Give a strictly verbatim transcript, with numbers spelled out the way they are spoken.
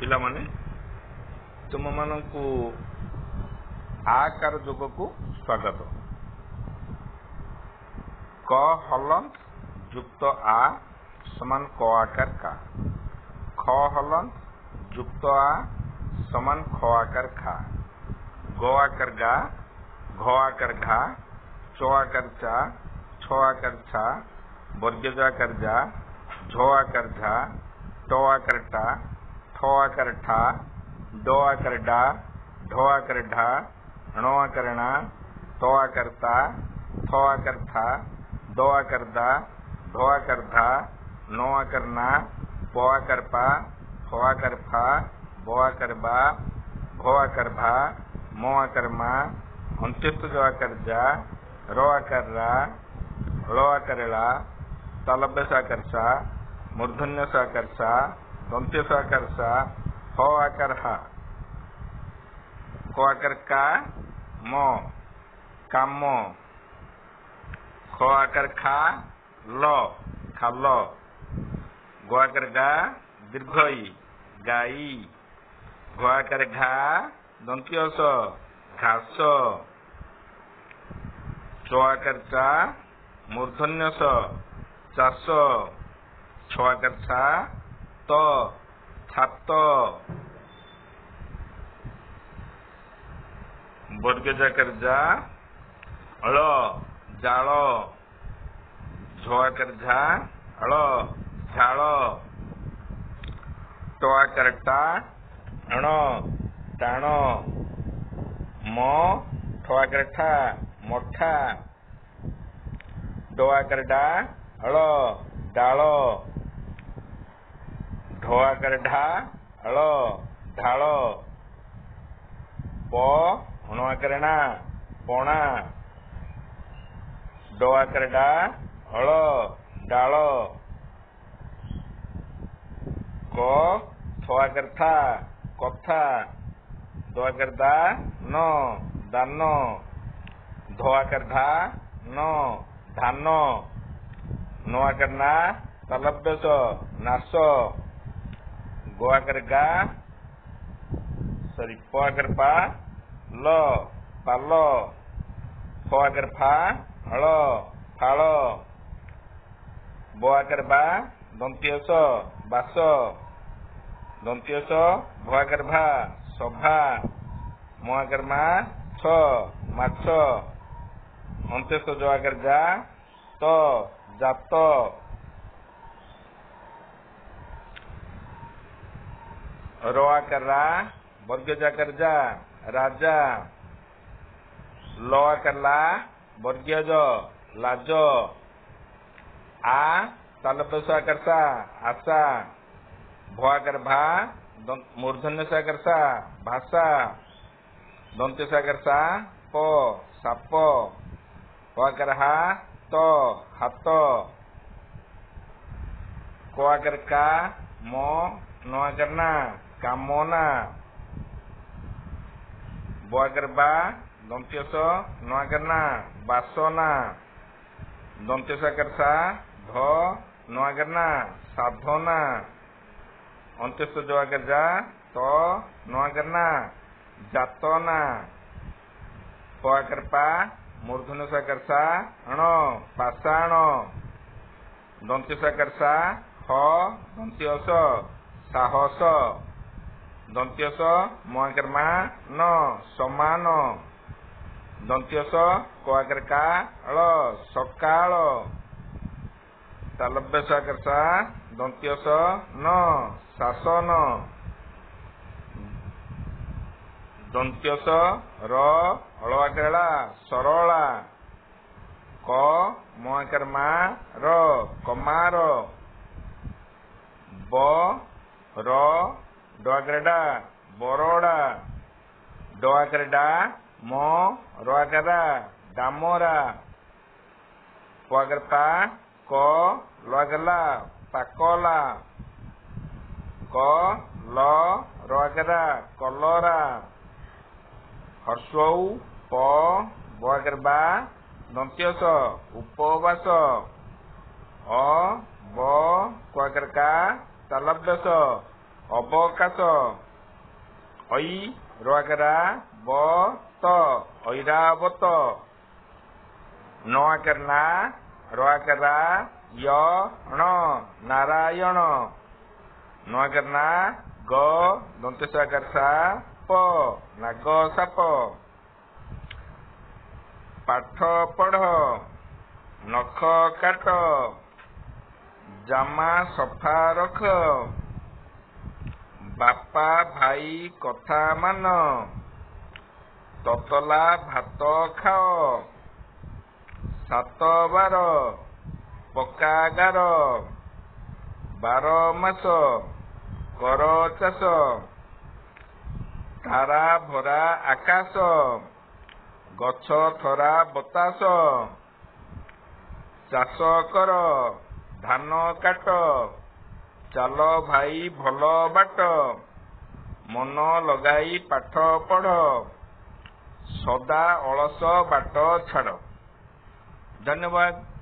ପିଲାମାନେ, ତୁମମାନଙ୍କୁ ଆକାର ଯୋଗକୁ ସ୍ୱାଗତ। କ ହଲନ୍ତ ଯୁକ୍ତ ଆ ସମାନ କ ଆକାର କା। ଖ ହଲନ୍ତ ଯୁକ୍ତ ଆ ସମାନ ଖ ଆକାର ଖା। ଗ ଆକାର ଗା, ଘ ଆକାର ଘା, ଚ ଆକାର ଚା, ଛ ଆକାର ଛା, ବର୍ଗୀୟ ଜ ଆକାର ଯା, ଝ ଆକାର ଝା, ଟ ଆକାର ଟା, ଠ ଆକାର ଠା, ଡ ଆକାର ଡା, ଢ ଆକାର ଢା, ଣ ଆକାର ଣା, ତ ଆକାର ତା, ଥ ଆକାର ଥା, ଦ ଆକାର ଦା, ଧ ଆକାର ଧା, ନ ଆକାର ନା, ପ ଆକାର ପା, ଫ ଆକାର ଫା, ବ ଆକାର ବା, ଭ ଆକାର ଭା, ମ ଆକାର ମା, ଅନ୍ତ୍ୟସ୍ଥ ଜ ଆକାର ଯା, ର ଆକାର ରା, ଳ ଆକାର ଳା, ତାଲବ୍ୟ ସ ଆକାର ସା, ମୂର୍ଧନ୍ୟ ସ ଆକାର ସା, ଦନ୍ତ୍ୟ ସ ଆକାର ସା, ହ ଆକାର ହା। କ ଆକାର କା, ମ କାମ। ଖ ଆକାର ଖା, ଲ ଖାଲ। ଗ ଆକାର ଗା, ଦୀର୍ଘ ଇ ଗାଈ। ଘ ଆକାର ଘା, ଦନ୍ତ୍ୟ ସ ଘାସ। ଚ ଆକାର ଚା, ମୂର୍ଧନ୍ୟ ସ ଚାଷ। ଛ ଆକାର ଛା, ତ ଛାତ। ବର୍ଗ ଜାକାର ଯା, ଳ ଜାଳ। ଝ ଆକାର ଝା, ଳ ଝାଳ। ଟ ଆକାର ଟା, ଣ ଟାଣ। ମ ଠ ଆକାର ଠା ମଠା। ଡ ଆକାର ଡା, ଳ ଡାଳ। ଢ ଆକାର ଢା, ଳ ଢାଳ। ପ ଣ ଆକାର ଣା ପଣା। ଡ ଆକାର ଡା, ଳ ଡାଳ। କ ଥ ଆକାର ଥା କଥା। ଦ ଆକାର ଦା, ନ ଦାନ। ଧ ଆକାର ଧା, ନ ଧାନ। ନ ଆକାର ନା, ତାଲବ୍ୟ ସ ନାଶ। ଗ ଆକାର ଗା, ସରି, ପ ଆକାର ପା, ଲ ପାଲ। ଫ ଆକାର ଫା, ଳ ଫାଳ। ବ ଆକାର ବା, ଦନ୍ତ୍ୟ ସ ବାସ। ଦନ୍ତ୍ୟ ସ ଭ ଆକାର ଭା ସଭା। ମ ଆକାର ମା, ଛ ମାଛ। ଅନ୍ତ୍ୟସ୍ଥ ଜ ଆକାର ଯା, ତ ଜାତ। ର ଆକାର ରା, ବର୍ଗ ଜାକାର ଯା ରାଜା। ଲ ଆକାର ଲା, ବର୍ଗୀୟ ଜ ଲାଜ। ଆ ତାଲବ୍ୟ ସ ଆକାର ସା ଆଶା। ଭ ଆକାର ଭା, ମୂର୍ଧନ୍ୟ ସ ଆକାର ସା ଭାଷା। ଦନ୍ତ୍ୟ ସ ଆକାର ସା, ପ ସାପ। ହ ଆକାର ହା, ତ ହାତ। କ ଆକାର କା, ମ ନ ଆକାର ନା କାମନା। ବ ଆକାର ବା, ଦନ୍ତ୍ୟ ସ ନ ଆକାର ନା ବାସନା। ଦନ୍ତ୍ୟ ସ ଆକାର ସା, ଧ ନ ଆକାର ନା ସାଧନା। ଅନ୍ତ୍ୟସ୍ଥ ଜ ଆକାର ଯା, ତ ନ ଆକାର ନା ଯାତନା। ପ ଆକାର ପା, ମୂର୍ଧନ୍ୟ ସ ଆକାର ସା, ଣ ପାଷାଣ। ଦନ୍ତ୍ୟ ସ ଆକାର ସା, ହ ଦନ୍ତ୍ୟ ସ ସାହସ। ଦନ୍ତ୍ୟ ସ ମ ଆକାର ମା, ନ ସମାନ। ଦନ୍ତ୍ୟ ସ କ ଆକାର କା, ଳ ସକାଳ। ତାଲବ୍ୟ ସ ଆକାର ସା, ଦନ୍ତ୍ୟ ସ ନ ଶାସନ। ଦନ୍ତ୍ୟ ସ ର ଅଳ ଆକାର ଳା ସରଳା। କ ମ ଆକାର ମା, ର କମାର। ବ ର ଡ ଆକାର ଡା ବରଡ଼ା। ଡ ଆକାର ଡା, ମ ର ଆକାର ରା ଡାମରା। ପ ଆକାର ପା, କ ଲ ଆକାର ଲା ପାକଲା। କ ଲ ର ଆକାର ରା କଲରା। ହର୍ଷଉ ପ ବ ଆକାର ବା, ଦନ୍ତ୍ୟ ସ ଉପବାସ। ଅ ବ କ ଆକାର କା, ତାଲବ୍ୟ ସ ଅବକାଶ। ଐ ର ଆକାର ରା ବ ତ, ଐରାବତ। ନ ଆକାର ନା, ର ଆକାର ରା, ୟ ଣ, ନାରାୟଣ। ନ ଆକାର ନା, ଗ ଦନ୍ତେଶ ଆକାର ସା ପ, ନାଗ ସାପ। ପାଠ ପଢ଼, ନଖ କାଟ, ଜାମା ସଫା ରଖ, ବାପା ଭାଇ କଥା ମାନ, ତତଲା ଭାତ ଖାଅ, ସାତ ବାର ପକ୍କା ଗାର, ବାର ମାସ କର ଚାଷ, ତାରା ଭରା ଆକାଶ, ଗଛ ଥରା ବତାସ, ଚାଷ କର, ଧାନ କାଟ, ଚାଲ ଭାଇ ଭଲ ବାଟ, ମନ ଲଗାଇ ପାଠ ପଢ଼, ସଦା ଅଳସ ବାଟ ଛାଡ଼। ଧନ୍ୟବାଦ।